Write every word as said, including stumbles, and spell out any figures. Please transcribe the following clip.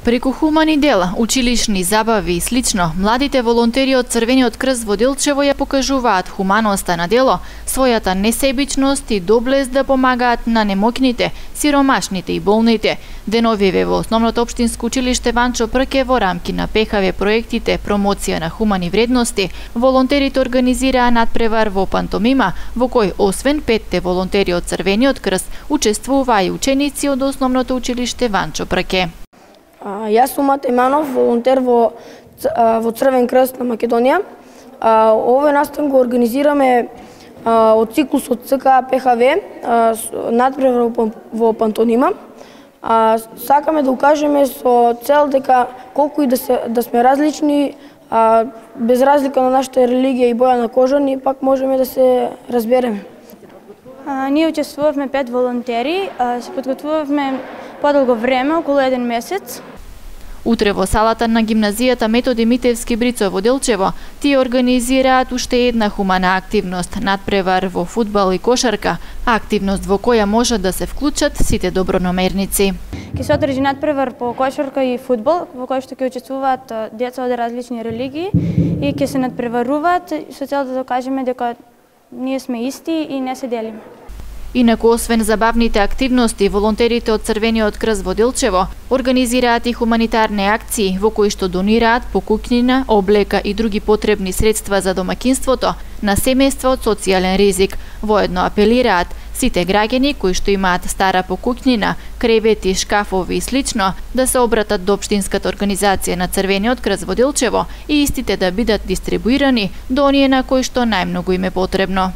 Преку хумани дела, училишни забави и слично, младите волонтери од Црвениот крст во Делчево ја покажуваат хуманоста на дело, својата несебичност и доблест да помагаат на немоќните, сиромашните и болните. Деновиве во Основното општинско училиште Ванчо Прке во рамки на ПХВ проектите промоција на хумани вредности, волонтерите организираа надпревар во пантомима, во кој освен петте волонтери од Црвениот крст, учествуваа и ученици од Основното училиште Ванчо Прке. А, јас сум Мате Иманов, волонтер во, во Црвен крст на Македонија. А, овој настан го организираме а, од циклусот ЦК ПХВ, надпревар во, во пантонима. А, сакаме да укажеме со цел дека колку и да, се, да сме различни, а, без разлика на нашата религија и боја на кожа, ние пак можеме да се разбереме. А, ние учествувавме пет волонтери, а, се подготвувавме подолго време, околу еден месец. Утре во салата на гимназијата Методи Митевски Брицо во Делчево тие организираат уште една хумана активност, надпревар во фудбал и кошарка, активност во која можат да се вклучат сите добронамерници. Ќе се одржи надпревар по кошарка и фудбал, во кој што ќе учествуваат деца од различни религии и ќе се надпреваруваат со цел да докажеме дека ние сме исти и не се делиме. Инаку, освен забавните активности, волонтерите од Црвениот крст во Делчево организираат и хуманитарни акции во кои што донираат покукнина, облека и други потребни средства за домаќинството на семејства од социјален ризик. Воедно апелираат сите граѓани кои што имаат стара покукнина, кревети, шкафови и слично да се обратат до општинската организација на Црвениот крст во Делчево и истите да бидат дистрибуирани до оние на кои што најмногу им е потребно.